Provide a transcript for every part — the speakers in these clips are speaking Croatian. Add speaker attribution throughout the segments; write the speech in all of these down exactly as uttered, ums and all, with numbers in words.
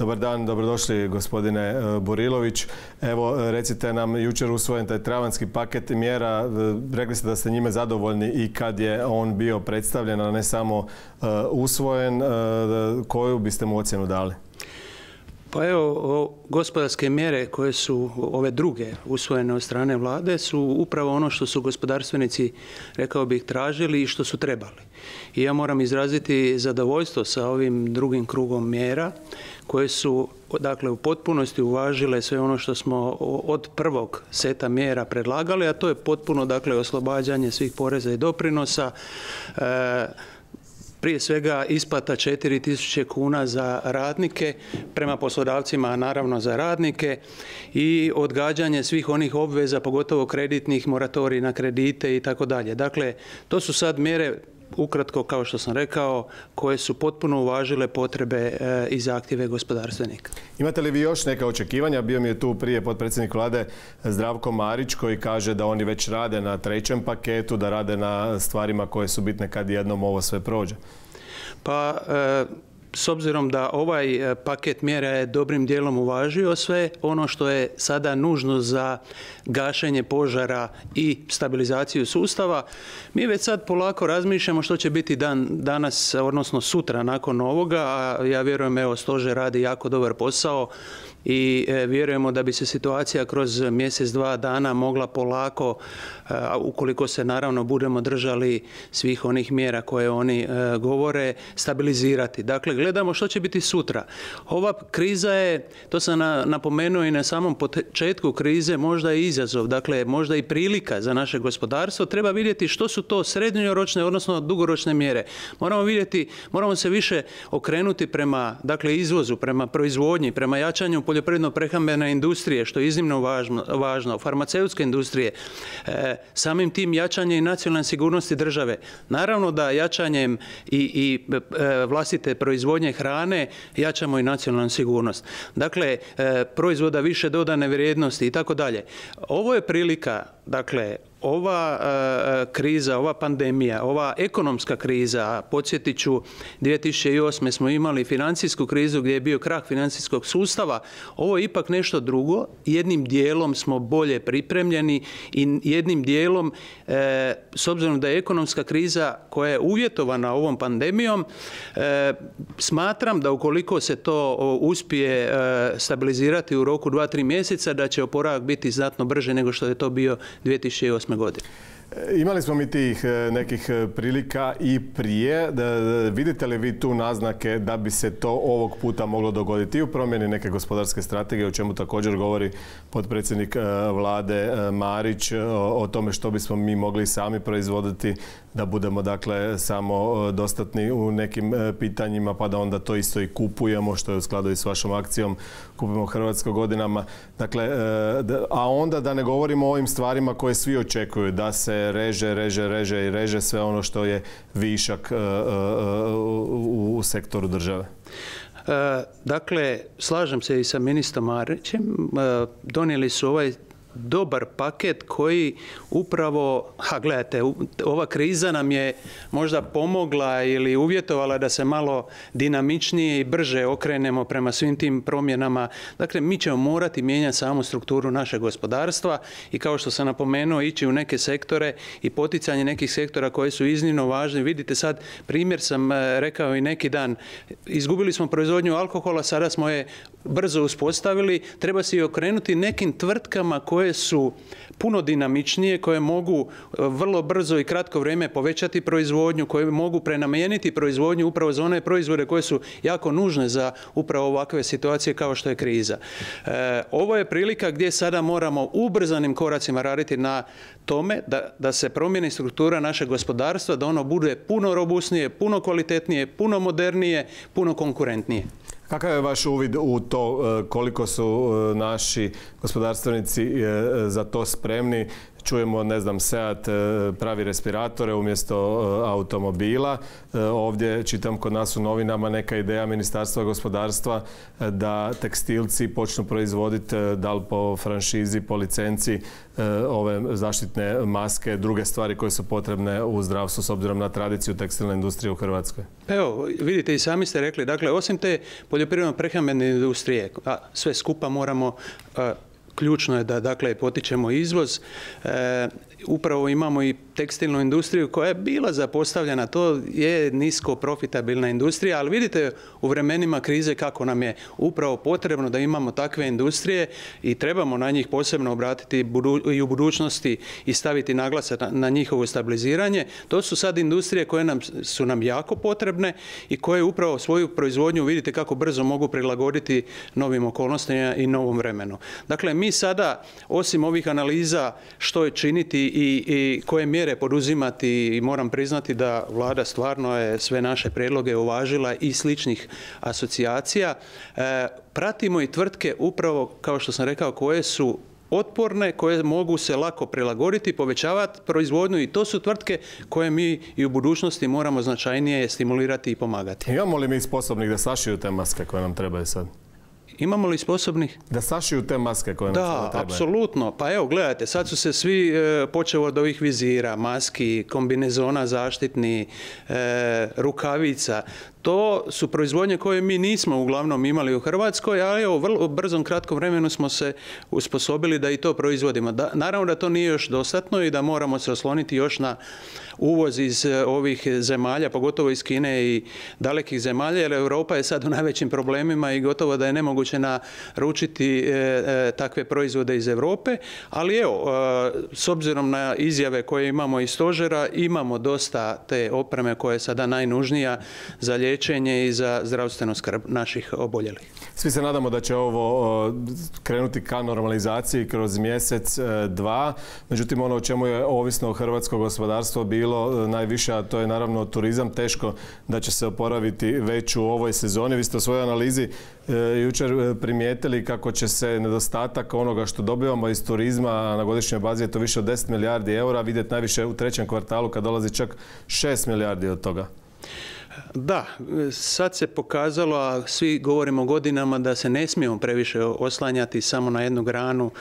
Speaker 1: Dobar dan, dobrodošli gospodine Burilović. Evo, recite nam, jučer usvojen taj travanjski paket mjera, rekli ste da ste njime zadovoljni i kad je on bio predstavljen, a ne samo usvojen, koju biste mu ocjenu dali?
Speaker 2: Pa evo, gospodarske mjere koje su ove druge usvojene od strane vlade su upravo ono što su gospodarstvenici, rekao bih, tražili i što su trebali. I ja moram izraziti zadovoljstvo sa ovim drugim krugom mjera koje su, dakle, u potpunosti uvažile sve ono što smo od prvog seta mjera predlagali, a to je potpuno, dakle, oslobađanje svih poreza i doprinosa, e, prije svega isplata četiri tisuće kuna za radnike, prema poslodavcima, a naravno za radnike, i odgađanje svih onih obveza, pogotovo kreditnih, moratorij na kredite i tako dalje. Dakle, to su sad mjere, ukratko, kao što sam rekao, koje su potpuno uvažile potrebe i zahtjeve gospodarstvenika.
Speaker 1: Imate li vi još neka očekivanja? Bio mi je tu prije potpredsjednik vlade Zdravko Marić koji kaže da oni već rade na trećem paketu, da rade na stvarima koje su bitne kad jednom ovo sve prođe.
Speaker 2: Pa, e s obzirom da ovaj paket mjera je dobrim dijelom uvažio sve ono što je sada nužno za gašenje požara i stabilizaciju sustava, mi već sad polako razmišljamo što će biti dan danas, odnosno sutra nakon ovoga, a ja vjerujem, evo, stožer radi jako dobar posao i vjerujemo da bi se situacija kroz mjesec, dva dana mogla polako, ukoliko se naravno budemo držali svih onih mjera koje oni govore, stabilizirati. Dakle, gledamo što će biti sutra. Ova kriza je, to sam napomenuo i na samom početku krize, možda i izazov, dakle možda i prilika za naše gospodarstvo. Treba vidjeti što su to srednjoročne, odnosno dugoročne mjere. Moramo vidjeti, moramo se više okrenuti prema, dakle, izvozu, prema proizvodnji, prema jačanju poljoprivredno-prehrambene industrije, što je iznimno važno, važno, farmaceutske industrije, e, samim tim jačanje i nacionalne sigurnosti države. Naravno da jačanjem i, i e, vlastite proizvodnje hrane jačamo i nacionalnu sigurnost. Dakle, e, proizvoda više dodane vrijednosti i tako dalje. Ovo je prilika, dakle, ova e, kriza, ova pandemija, ova ekonomska kriza, podsjetit ću, dvije tisuće osme smo imali financijsku krizu gdje je bio krah financijskog sustava, ovo je ipak nešto drugo, jednim dijelom smo bolje pripremljeni i jednim dijelom, e, s obzirom da je ekonomska kriza koja je uvjetovana ovom pandemijom, e, smatram da ukoliko se to uspije e, stabilizirati u roku dva, tri mjeseca, da će oporavak biti znatno brže nego što je to bio dvije tisuće osme godine.
Speaker 1: Imali smo mi tih nekih prilika i prije. Vidite li vi tu naznake da bi se to ovog puta moglo dogoditi i u promjeni neke gospodarske strategije, o čemu također govori potpredsjednik vlade Marić, o tome što bismo mi mogli sami proizvoditi, da budemo, dakle, samo dostatni u nekim pitanjima, pa da onda to isto i kupujemo, što je u skladu i s vašom akcijom Kupimo hrvatsko godinama. Dakle, a onda da ne govorimo o ovim stvarima koje svi očekuju, da se reže, reže, reže i reže sve ono što je višak u sektoru države.
Speaker 2: Dakle, slažem se i sa ministrom Marićem. Donijeli su ovaj dobar paket koji upravo, ha gledajte, ova kriza nam je možda pomogla ili uvjetovala da se malo dinamičnije i brže okrenemo prema svim tim promjenama. Dakle, mi ćemo morati mijenjati samu strukturu našeg gospodarstva i, kao što sam napomenuo, ići u neke sektore i poticanje nekih sektora koji su iznimno važni. Vidite sad, primjer sam rekao i neki dan, izgubili smo proizvodnju alkohola, sada smo je brzo uspostavili, treba se i okrenuti nekim tvrtkama koje koje su puno dinamičnije, koje mogu vrlo brzo i kratko vrijeme povećati proizvodnju, koje mogu prenamijeniti proizvodnju upravo za one proizvode koje su jako nužne za upravo ovakve situacije kao što je kriza. E, ovo je prilika gdje sada moramo ubrzanim koracima raditi na tome da, da se promijeni struktura našeg gospodarstva, da ono bude puno robusnije, puno kvalitetnije, puno modernije, puno konkurentnije.
Speaker 1: Kakav je vaš uvid u to koliko su naši gospodarstvenici za to spremni? čujemo, ne znam, Seat pravi respiratore umjesto automobila. Ovdje čitam kod nas u novinama neka ideja Ministarstva gospodarstva da tekstilci počnu proizvoditi, da li po franšizi, po licenci, ove zaštitne maske, druge stvari koje su potrebne u zdravstvu s obzirom na tradiciju tekstilne industrije u Hrvatskoj.
Speaker 2: Evo, vidite, i sami ste rekli, dakle, osim te poljoprivredno-prehrambene industrije, a sve skupa moramo, a, ključno je da, dakle, potičemo izvoz. E, upravo imamo i tekstilnu industriju koja je bila zapostavljena. To je nisko profitabilna industrija, ali vidite u vremenima krize kako nam je upravo potrebno da imamo takve industrije i trebamo na njih posebno obratiti i u budućnosti i staviti naglasak na njihovo stabiliziranje. To su sad industrije koje nam, su nam jako potrebne i koje upravo svoju proizvodnju, vidite kako brzo mogu prilagoditi novim okolnostima i novom vremenu. Dakle, mi sada, osim ovih analiza što je činiti i, i koje mjere poduzimati, i moram priznati da Vlada stvarno je sve naše prijedloge uvažila i sličnih asocijacija, e, pratimo i tvrtke upravo, kao što sam rekao, koje su otporne, koje mogu se lako prilagoditi, povećavati proizvodnju, i to su tvrtke koje mi i u budućnosti moramo značajnije stimulirati i pomagati.
Speaker 1: Imamo li mi sposobnih da sašiju te maske koje nam trebaju sad?
Speaker 2: Imamo li sposobnih?
Speaker 1: Da sašiju te maske koje nam
Speaker 2: da,
Speaker 1: trebaju?
Speaker 2: Da, apsolutno. Pa evo, gledajte, sad su se svi, e, počeo od ovih vizira, maski, kombinezona zaštitni, e, rukavica. To su proizvodnje koje mi nismo uglavnom imali u Hrvatskoj, ali u vrlo brzom kratkom vremenu smo se usposobili da i to proizvodimo. Da, naravno da to nije još dostatno i da moramo se osloniti još na uvoz iz ovih zemalja, pogotovo iz Kine i dalekih zemalja, jer Europa je sad u najvećim problemima i gotovo da je nemoguće naručiti e, e, takve proizvode iz Europe. Ali evo, e, s obzirom na izjave koje imamo iz stožera, imamo dosta te opreme koja je sada najnužnija za liječenje i za zdravstvenu skrb naših oboljelih.
Speaker 1: Svi se nadamo da će ovo krenuti ka normalizaciji kroz mjesec, dva. Međutim, ono o čemu je ovisno hrvatsko gospodarstvo bilo najviše, a to je naravno turizam, teško da će se oporaviti već u ovoj sezoni. Vi ste u svojoj analizi jučer primijetili kako će se nedostatak onoga što dobivamo iz turizma na godišnjoj bazi, je to više od deset milijardi eura, vidjeti najviše u trećem kvartalu kad dolazi čak šest milijardi od toga.
Speaker 2: Da, sad se pokazalo, a svi govorimo godinama, da se ne smijemo previše oslanjati samo na jednu granu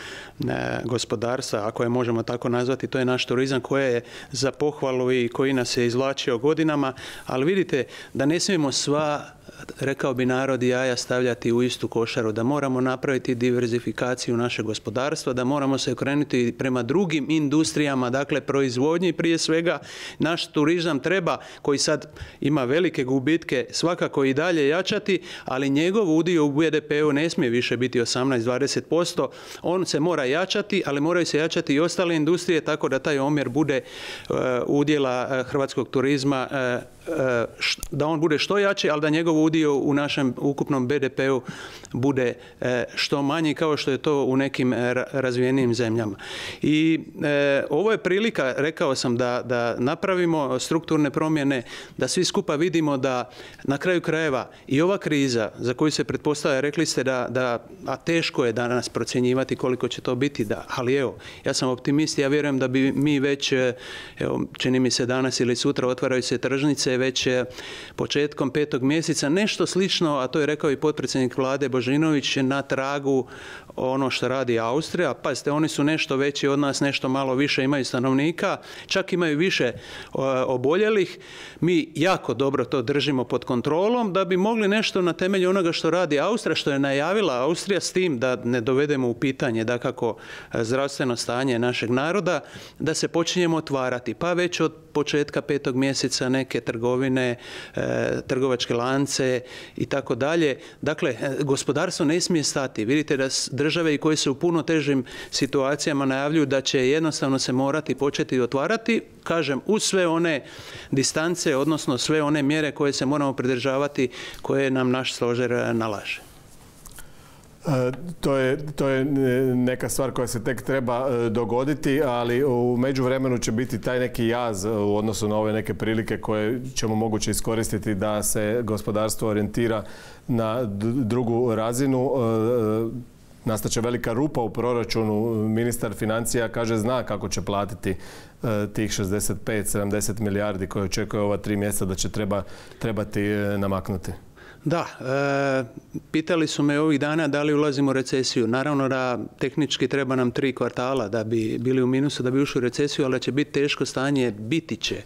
Speaker 2: gospodarstva, ako je možemo tako nazvati, to je naš turizam koji je za pohvalu i koji nas je izvlačio godinama, ali vidite da ne smijemo sva, rekao bi narod, jaja stavljati u istu košaru, da moramo napraviti diverzifikaciju našeg gospodarstva, da moramo se okrenuti prema drugim industrijama, dakle proizvodnji prije svega. Naš turizam treba, koji sad ima velike gubitke, svakako i dalje jačati, ali njegov udio u B D P-u ne smije više biti osamnaest do dvadeset posto. On se mora jačati, ali moraju se jačati i ostale industrije, tako da taj omjer bude uh, udjela uh, hrvatskog turizma, uh, da on bude što jači, ali da njegov udio u našem ukupnom B D P-u bude što manji, kao što je to u nekim razvijenijim zemljama. I e, ovo je prilika, rekao sam, da, da napravimo strukturne promjene, da svi skupa vidimo da na kraju krajeva i ova kriza za koju se pretpostavlja, rekli ste da, da a teško je danas procjenjivati koliko će to biti, da, ali evo, ja sam optimist, ja vjerujem da bi mi već, evo, čini mi se danas ili sutra otvaraju se tržnice, već početkom petog mjeseca, nešto slično, a to je rekao i potpredsjednik Vlade Božinović, na tragu ono što radi Austrija. Pazite, oni su nešto veći od nas, nešto malo više imaju stanovnika, čak imaju više oboljelih. Mi jako dobro to držimo pod kontrolom da bi mogli nešto na temelju onoga što radi Austrija, što je najavila Austrija, s tim da ne dovedemo u pitanje dakako zdravstveno stanje našeg naroda, da se počinjemo otvarati. Pa već od početka petog mjeseca neke trgovine, e, trgovačke lance i tako dalje. Dakle, gospodarstvo ne smije stati. Vidite da države i koje su u puno težim situacijama najavljuju da će jednostavno se morati početi otvarati, kažem, uz sve one distance, odnosno sve one mjere koje se moramo pridržavati, koje nam naš stožer nalaže.
Speaker 1: To je, to je neka stvar koja se tek treba dogoditi, ali u međuvremenu će biti taj neki jaz u odnosu na ove neke prilike koje ćemo moguće iskoristiti da se gospodarstvo orijentira na drugu razinu. nastaće velika rupa u proračunu. Ministar financija kaže zna kako će platiti tih šezdeset pet sedamdeset milijardi koje očekuje ova tri mjeseca da će treba, trebati namaknuti.
Speaker 2: Da, e, pitali su me ovih dana da li ulazimo u recesiju. Naravno da tehnički treba nam tri kvartala da bi bili u minusu, da bi ušli u recesiju, ali će biti teško stanje, biti će.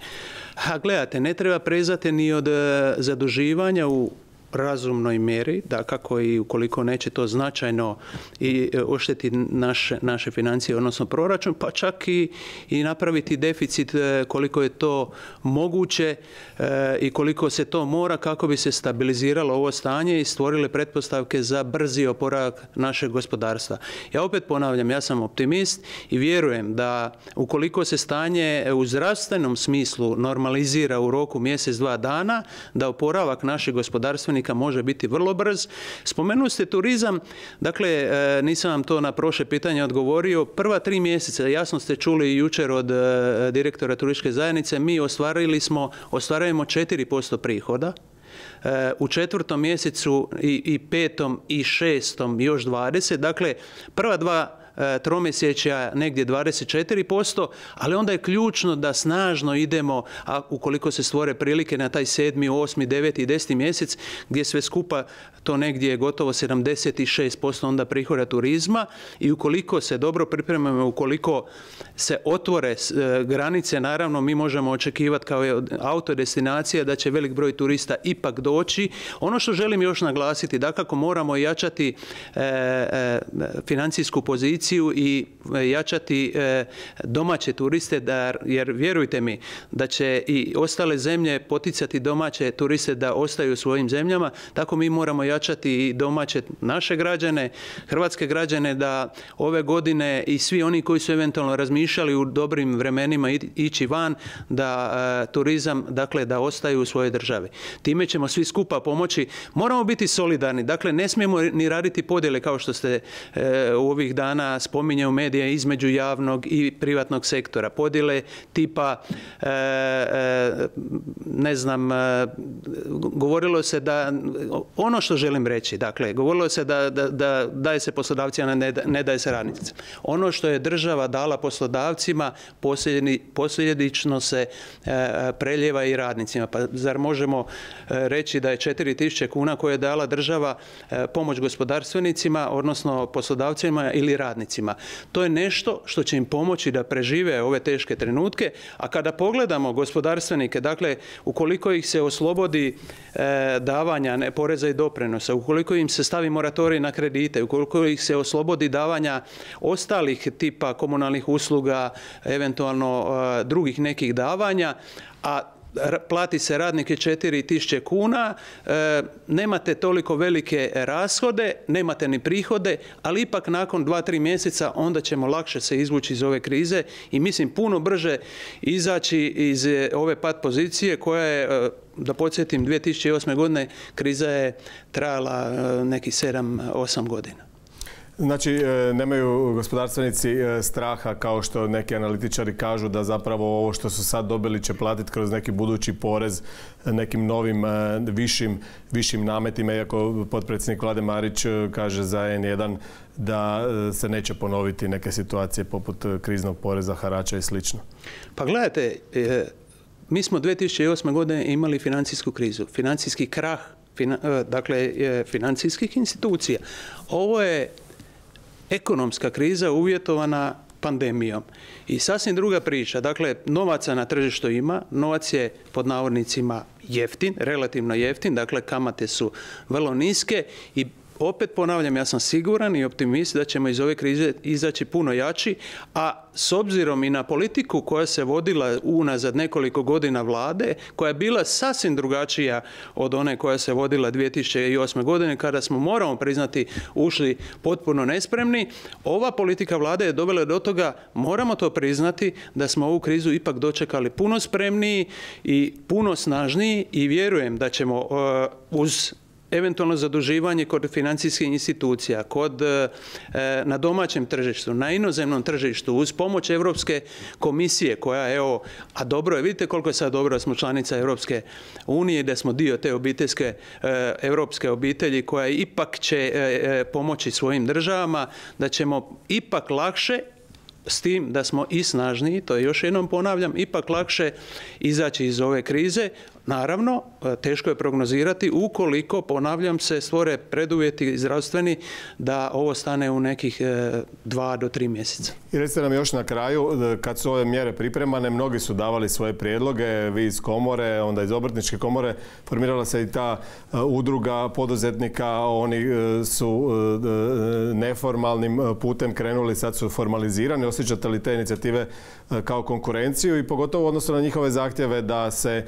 Speaker 2: A gledajte, ne treba prezati ni od zaduživanja u razumnoj mjeri, da kako i ukoliko neće to značajno i oštetiti naše, naše financije, odnosno proračun, pa čak i, i napraviti deficit koliko je to moguće e, i koliko se to mora kako bi se stabiliziralo ovo stanje i stvorile pretpostavke za brzi oporavak našeg gospodarstva. Ja opet ponavljam, ja sam optimist i vjerujem da ukoliko se stanje u zdravstvenom smislu normalizira u roku mjesec, dva dana, da oporavak naših gospodarstvenika može biti vrlo brz. Spomenuli ste turizam, dakle, nisam vam to na prošle pitanje odgovorio. Prva tri mjeseca, jasno ste čuli jučer od direktora turističke zajednice, mi ostvarili smo, ostvarujemo četiri posto prihoda. U četvrtom mjesecu i, i petom i šestom još dvadeset. Dakle, prva dva tromjesečja negdje dvadeset četiri posto, ali onda je ključno da snažno idemo, a ukoliko se stvore prilike na taj sedmi, osmi, deveti i deseti mjesec, gdje sve skupa to negdje je gotovo sedamdeset šest posto onda prihoda turizma i ukoliko se dobro pripremamo, ukoliko se otvore granice, naravno mi možemo očekivati kao autodestinacija da će velik broj turista ipak doći. Ono što želim još naglasiti, dakako moramo jačati e, e, financijsku poziciju i jačati domaće turiste, da, jer vjerujte mi da će i ostale zemlje poticati domaće turiste da ostaju u svojim zemljama, tako mi moramo jačati i domaće naše građane, hrvatske građane, da ove godine i svi oni koji su eventualno razmišljali u dobrim vremenima ići van, da turizam, dakle, da ostaju u svojoj državi. Time ćemo svi skupa pomoći. Moramo biti solidarni, dakle, ne smijemo ni raditi podjele kao što ste u ovih dana spominje u medije između javnog i privatnog sektora. Podjele tipa, e, e, ne znam, e, govorilo se da, ono što želim reći, dakle, govorilo se da, da, da daje se poslodavcima, ne, ne daje se radnicima. Ono što je država dala poslodavcima, posljedično se e, preljeva i radnicima. Pa zar možemo e, reći da je četiri tisuće kuna koje je dala država e, pomoć gospodarstvenicima, odnosno poslodavcima ili radnicima? To je nešto što će im pomoći da prežive ove teške trenutke, a kada pogledamo gospodarstvenike, dakle, ukoliko ih se oslobodi e, davanja ne, poreza i doprinosa, ukoliko im se stavi moratorij na kredite, ukoliko ih se oslobodi davanja ostalih tipa komunalnih usluga, eventualno e, drugih nekih davanja, a plati se radnike četiri tisuće kuna, e, nemate toliko velike rashode, nemate ni prihode, ali ipak nakon dva tri mjeseca onda ćemo lakše se izvući iz ove krize i mislim puno brže izaći iz ove pad pozicije koja je, da podsjetim, dvije tisuće osme godine kriza je trajala nekih sedam osam godina.
Speaker 1: Znači, nemaju gospodarstvenici straha, kao što neki analitičari kažu, da zapravo ovo što su sad dobili će platiti kroz neki budući porez nekim novim višim, višim nametima, iako potpredsjednik Vlade Marić kaže za en jedan da se neće ponoviti neke situacije poput kriznog poreza, harača i slično.
Speaker 2: Pa gledajte, mi smo dvije tisuće osme godine imali financijsku krizu, financijski krah, fina, dakle, financijskih institucija. Ovo je ekonomska kriza uvjetovana pandemijom. I sasvim druga priča. Dakle, novaca na tržištu ima, novac je pod navodnicima jeftin, relativno jeftin, dakle kamate su vrlo niske i opet ponavljam, ja sam siguran i optimist da ćemo iz ove krize izaći puno jači, a s obzirom i na politiku koja se vodila unazad nekoliko godina vlade, koja je bila sasvim drugačija od one koja se vodila dvije tisuće osme godine, kada smo, moramo priznati, ušli potpuno nespremni, ova politika vlade je dovela do toga, moramo to priznati, da smo ovu krizu ipak dočekali puno spremniji i puno snažniji i vjerujem da ćemo uh, uz eventualno zaduživanje kod financijskih institucija, kod, na domaćem tržištu, na inozemnom tržištu, uz pomoć Europske komisije koja, evo, a dobro je, vidite koliko je sad dobro da smo članica Europske unije i da smo dio te obiteljske, europske obitelji koja ipak će pomoći svojim državama, da ćemo ipak lakše, s tim da smo i snažniji, to je još jednom ponavljam, ipak lakše izaći iz ove krize. Naravno, teško je prognozirati ukoliko, ponavljam se, stvore preduvjeti zdravstveni da ovo stane u nekih dva do tri mjeseca.
Speaker 1: I recite nam još na kraju, kad su ove mjere pripremane, mnogi su davali svoje prijedloge, vi iz komore, onda iz obrtničke komore, formirala se i ta udruga poduzetnika, oni su neformalnim putem krenuli, sad su formalizirani. Osjećate li te inicijative kao konkurenciju i pogotovo odnosno na njihove zahtjeve da se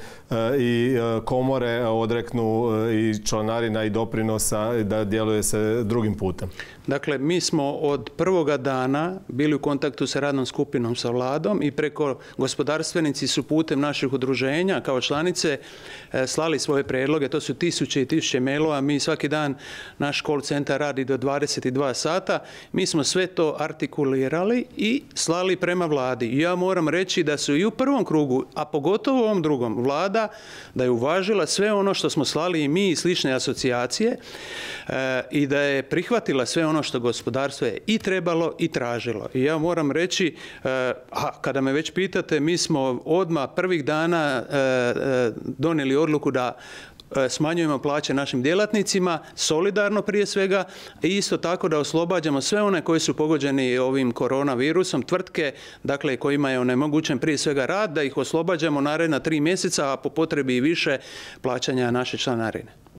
Speaker 1: i komore odreknu i članarina i doprinosa, da djeluje se drugim putem?
Speaker 2: Dakle, mi smo od prvoga dana bili u kontaktu sa radnom skupinom sa vladom i preko gospodarstvenici su putem naših udruženja kao članice slali svoje prijedloge. To su tisuće i tisuće mailova. Mi svaki dan, naš call centar radi do dvadeset dva sata. Mi smo sve to artikulirali i slali prema vladi. Ja moram reći da su i u prvom krugu, a pogotovo u ovom drugom, vlada da je uvažila sve ono što smo slali i mi i slične asocijacije e, i da je prihvatila sve ono što gospodarstvo je i trebalo i tražilo. I ja moram reći, e, a kada me već pitate, mi smo odmah prvih dana e, e, donijeli odluku da smanjujemo plaće našim djelatnicima, solidarno prije svega, i isto tako da oslobađamo sve one koji su pogođeni ovim koronavirusom, tvrtke, dakle kojima je onemogućen prije svega rad, da ih oslobađamo naredna tri mjeseca, a po potrebi i više plaćanja naše članarine.